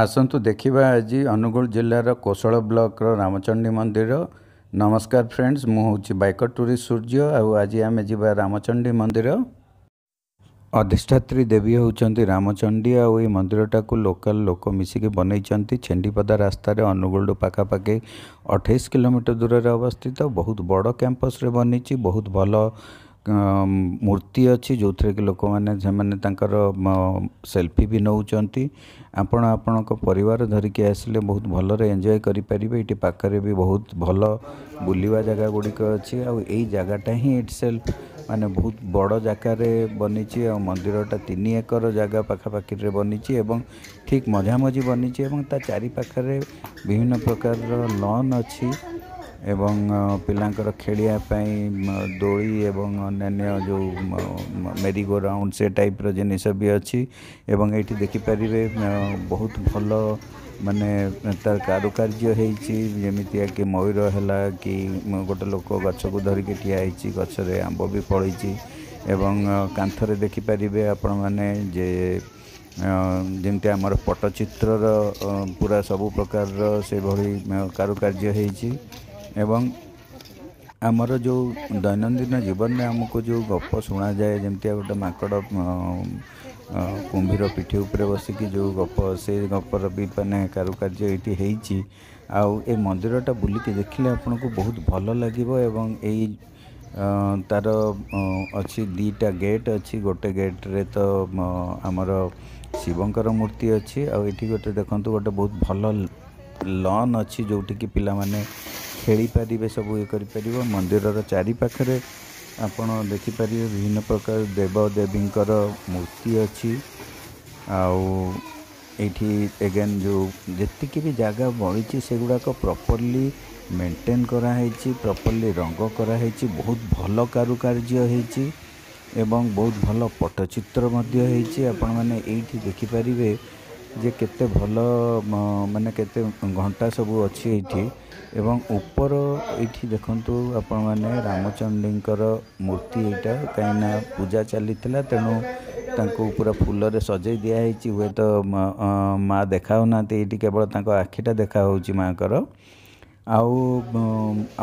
ଆସନ୍ତୁ ଦେଖିବା ଆଜି ଅନୁଗୁଳ ଜିଲ୍ଲାର କୋଶଳ ବ୍ଲକର ରାମଚଣ୍ଡୀ ମନ୍ଦିର। ନମସ୍କାର ଫ୍ରେଣ୍ଡସ୍, ମୁଁ ହେଉଛି ବାଇକର ଟୁରିଷ୍ଟ ସୂର୍ଯ୍ୟ। ଆଉ ଆଜି ଆମେ ଯିବା ରାମଚଣ୍ଡୀ ମନ୍ଦିର। ଅଧିଷ୍ଠାତ୍ରୀ ଦେବୀ ହେଉଛନ୍ତି ରାମଚଣ୍ଡୀ। ଆଉ ଏଇ ମନ୍ଦିରଟାକୁ ଲୋକାଲ ଲୋକ ମିଶିକି ବନେଇଛନ୍ତି। ଛେଣ୍ଡିପଦା ରାସ୍ତାରେ ଅନୁଗୁଳଠୁ ପାଖାପାଖି 28 କିଲୋମିଟର ଦୂରରେ ଅବସ୍ଥିତ। ବହୁତ ବଡ଼ କ୍ୟାମ୍ପସରେ ବନିଛି। ବହୁତ ଭଲ ମୂର୍ତ୍ତି ଅଛି, ଯେଉଁଥିରେ କି ଲୋକମାନେ ସେମାନେ ତାଙ୍କର ସେଲଫି ବି ନେଉଛନ୍ତି। ଆପଣ ଆପଣଙ୍କ ପରିବାର ଧରିକି ଆସିଲେ ବହୁତ ଭଲରେ ଏନ୍ଜୟ କରିପାରିବେ। ଏଇଠି ପାଖରେ ବି ବହୁତ ଭଲ ବୁଲିବା ଜାଗା ଗୁଡ଼ିକ ଅଛି। ଆଉ ଏଇ ଜାଗାଟା ହିଁ ଇଟସେଲ୍ଫ ମାନେ ବହୁତ ବଡ଼ ଜାଗାରେ ବନିଛି। ଆଉ ମନ୍ଦିରଟା 3 ଏକର ଜାଗା ପାଖାପାଖିରେ ବନିଛି ଏବଂ ଠିକ୍ ମଝାମଝି ବନିଛି ଏବଂ ତା ଚାରିପାଖରେ ବିଭିନ୍ନ ପ୍ରକାରର ଲନ୍ ଅଛି ଏବଂ ପିଲାଙ୍କର ଖେଳିବା ପାଇଁ ଦୋଳି ଏବଂ ଅନ୍ୟାନ୍ୟ ଯେଉଁ ମେରି ଗୋ ରାଉଣ୍ଡ, ସେ ଟାଇପ୍ର ଜିନିଷ ବି ଅଛି। ଏବଂ ଏଇଠି ଦେଖିପାରିବେ ବହୁତ ଭଲ ମାନେ ତାର କାରୁକାର୍ଯ୍ୟ ହେଇଛି, ଯେମିତିଆ କି ମୟୂର ହେଲା କି ଗୋଟେ ଲୋକ ଗଛକୁ ଧରିକି ଠିଆ ହେଇଛି, ଗଛରେ ଆମ୍ବ ବି ଫଳିଛି। ଏବଂ କାନ୍ଥରେ ଦେଖିପାରିବେ ଆପଣମାନେ ଯେ ଯେମିତି ଆମର ପଟ୍ଟଚିତ୍ରର ପୁରା ସବୁ ପ୍ରକାରର ସେଭଳି କାରୁକାର୍ଯ୍ୟ ହେଇଛି। ଏବଂ ଆମର ଯେଉଁ ଦୈନନ୍ଦିନ ଜୀବନରେ ଆମକୁ ଯେଉଁ ଗପ ଶୁଣାଯାଏ, ଯେମିତିଆ ଗୋଟେ ମାଙ୍କଡ଼ କୁମ୍ଭୀର ପିଠି ଉପରେ ବସିକି ଯେଉଁ ଗପ, ସେ ଗପର ବି ମାନେ କାରୁକାର୍ଯ୍ୟ ଏଇଠି ହେଇଛି। ଆଉ ଏ ମନ୍ଦିରଟା ବୁଲିକି ଦେଖିଲେ ଆପଣଙ୍କୁ ବହୁତ ଭଲ ଲାଗିବ। ଏବଂ ଏଇ ତାର ଅଛି 2ଟା ଗେଟ୍ ଅଛି। ଗୋଟେ ଗେଟ୍ରେ ତ ଆମର ଶିବଙ୍କର ମୂର୍ତ୍ତି ଅଛି। ଆଉ ଏଇଠି ଗୋଟେ ଦେଖନ୍ତୁ, ଗୋଟେ ବହୁତ ଭଲ ଲନ୍ ଅଛି, ଯେଉଁଠିକି ପିଲାମାନେ ଖେଳିପାରିବେ, ସବୁ ଇଏ କରିପାରିବ। ମନ୍ଦିରର ଚାରିପାଖରେ ଆପଣ ଦେଖିପାରିବେ ବିଭିନ୍ନ ପ୍ରକାର ଦେବଦେବୀଙ୍କର ମୂର୍ତ୍ତି ଅଛି। ଆଉ ଏଇଠି ଏଗେନ୍ ଯେଉଁ ଯେତିକି ବି ଜାଗା ବଳିଛି, ସେଗୁଡ଼ାକ ପ୍ରପରଲି ମେଣ୍ଟେନ୍ କରାହେଇଛି, ପ୍ରପରଲି ରଙ୍ଗ କରାହେଇଛି, ବହୁତ ଭଲ କାରୁକାର୍ଯ୍ୟ ହେଇଛି ଏବଂ ବହୁତ ଭଲ ପଟ୍ଟଚିତ୍ର ମଧ୍ୟ ହେଇଛି। ଆପଣମାନେ ଏଇଠି ଦେଖିପାରିବେ ଯେ କେତେ ଭଲ ମାନେ କେତେ ଘଣ୍ଟା ସବୁ ଅଛି ଏଇଠି। ଏବଂ ଉପର ଏଇଠି ଦେଖନ୍ତୁ ଆପଣମାନେ ରାମଚଣ୍ଡୀଙ୍କର ମୂର୍ତ୍ତି ଏଇଟା, କାହିଁକିନା ପୂଜା ଚାଲିଥିଲା, ତେଣୁ ତାଙ୍କୁ ପୁରା ଫୁଲରେ ସଜେଇ ଦିଆହେଇଛି। ହୁଏତ ମା ଦେଖାହେଉନାହାନ୍ତି ଏଇଠି, କେବଳ ତାଙ୍କ ଆଖିଟା ଦେଖାହେଉଛି ମାଆଙ୍କର। ଆଉ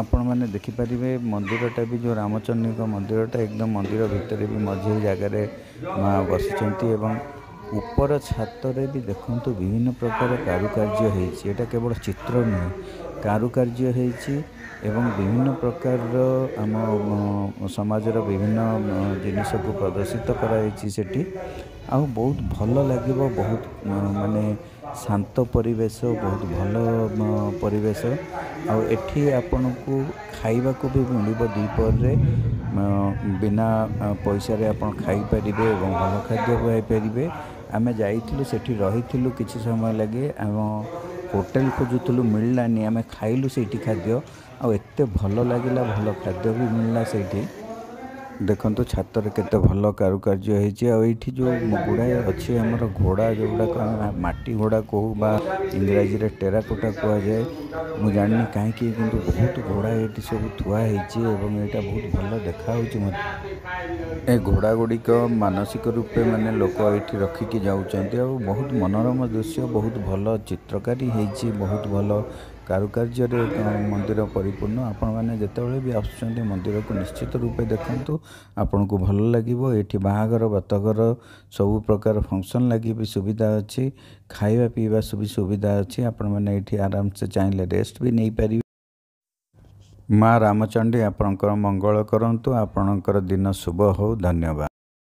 ଆପଣମାନେ ଦେଖିପାରିବେ ମନ୍ଦିରଟା ବି, ଯେଉଁ ରାମଚଣ୍ଡୀଙ୍କ ମନ୍ଦିରଟା, ଏକଦମ ମନ୍ଦିର ଭିତରେ ବି ମଝିରେ ଜାଗାରେ ମା ବସିଛନ୍ତି। ଏବଂ ଉପର ଛାତରେ ବି ଦେଖନ୍ତୁ ବିଭିନ୍ନ ପ୍ରକାର କାରୁକାର୍ଯ୍ୟ ହେଇଛି। ଏଇଟା କେବଳ ଚିତ୍ର ନୁହେଁ, କାରୁକାର୍ଯ୍ୟ ହେଇଛି ଏବଂ ବିଭିନ୍ନ ପ୍ରକାରର ଆମ ସମାଜର ବିଭିନ୍ନ ଜିନିଷକୁ ପ୍ରଦର୍ଶିତ କରାଯାଇଛି ସେଠି। ଆଉ ବହୁତ ଭଲ ଲାଗିବ, ବହୁତ ମାନେ ଶାନ୍ତ ପରିବେଶ, ବହୁତ ଭଲ ପରିବେଶ। ଆଉ ଏଠି ଆପଣଙ୍କୁ ଖାଇବାକୁ ବି ମିଳିବ। ଦ୍ୱିପହରରେ ବିନା ପଇସାରେ ଆପଣ ଖାଇପାରିବେ ଏବଂ ଭଲ ଖାଦ୍ୟ ଖାଇପାରିବେ। ଆମେ ଯାଇଥିଲୁ, ସେଠି ରହିଥିଲୁ କିଛି ସମୟ ଲାଗି। ଆମ ହୋଟେଲ ଖୋଜୁଥିଲୁ, ମିଳିଲାନି। ଆମେ ଖାଇଲୁ ସେଇଠି ଖାଦ୍ୟ ଆଉ ଏତେ ଭଲ ଲାଗିଲା, ଭଲ ଖାଦ୍ୟ ବି ମିଳିଲା ସେଇଠି। ଦେଖନ୍ତୁ ଛାତରେ କେତେ ଭଲ କାରୁକାର୍ଯ୍ୟ ହେଇଛି। ଆଉ ଏଇଠି ଯେଉଁ ଗୁଡ଼ାଏ ଅଛି ଆମର ଘୋଡ଼ା, ଯେଉଁଗୁଡ଼ାକ ଆମେ ମାଟି ଘୋଡ଼ା କହୁ ବା ଇଂରାଜୀରେ ଟେରାକୋଟା କୁହାଯାଏ, ମୁଁ ଜାଣିନି କାହିଁକି, କିନ୍ତୁ ବହୁତ ଘୋଡ଼ା ଏଇଠି ସବୁ ଥୁଆ ହେଇଛି ଏବଂ ଏଇଟା ବହୁତ ଭଲ ଦେଖାହେଉଛି ମୋତେ। ଏ ଘୋଡ଼ା ଗୁଡ଼ିକ ମାନସିକ ରୂପେ ମାନେ ଲୋକ ଏଇଠି ରଖିକି ଯାଉଛନ୍ତି। ଆଉ ବହୁତ ମନୋରମ ଦୃଶ୍ୟ, ବହୁତ ଭଲ ଚିତ୍ରକାରୀ ହେଇଛି, ବହୁତ ଭଲ କାରୁକାର୍ଯ୍ୟରେ ମନ୍ଦିର ପରିପୂର୍ଣ୍ଣ। ଆପଣମାନେ ଯେତେବେଳେ ବି ଆସୁଛନ୍ତି ମନ୍ଦିରକୁ, ନିଶ୍ଚିତ ରୂପେ ଦେଖନ୍ତୁ, ଆପଣଙ୍କୁ ଭଲ ଲାଗିବ। ଏଇଠି ବାହାଘର, ବ୍ରତଘର, ସବୁ ପ୍ରକାର ଫଙ୍କସନ୍ ଲାଗି ବି ସୁବିଧା ଅଛି। ଖାଇବା ପିଇବା ସବୁ ସୁବିଧା ଅଛି। ଆପଣମାନେ ଏଇଠି ଆରାମସେ ଚାହିଁଲେ ରେଷ୍ଟ ବି ନେଇପାରିବେ। ମା ରାମଚଣ୍ଡୀ ଆପଣଙ୍କର ମଙ୍ଗଳ କରନ୍ତୁ, ଆପଣଙ୍କର ଦିନ ଶୁଭ ହେଉ। ଧନ୍ୟବାଦ।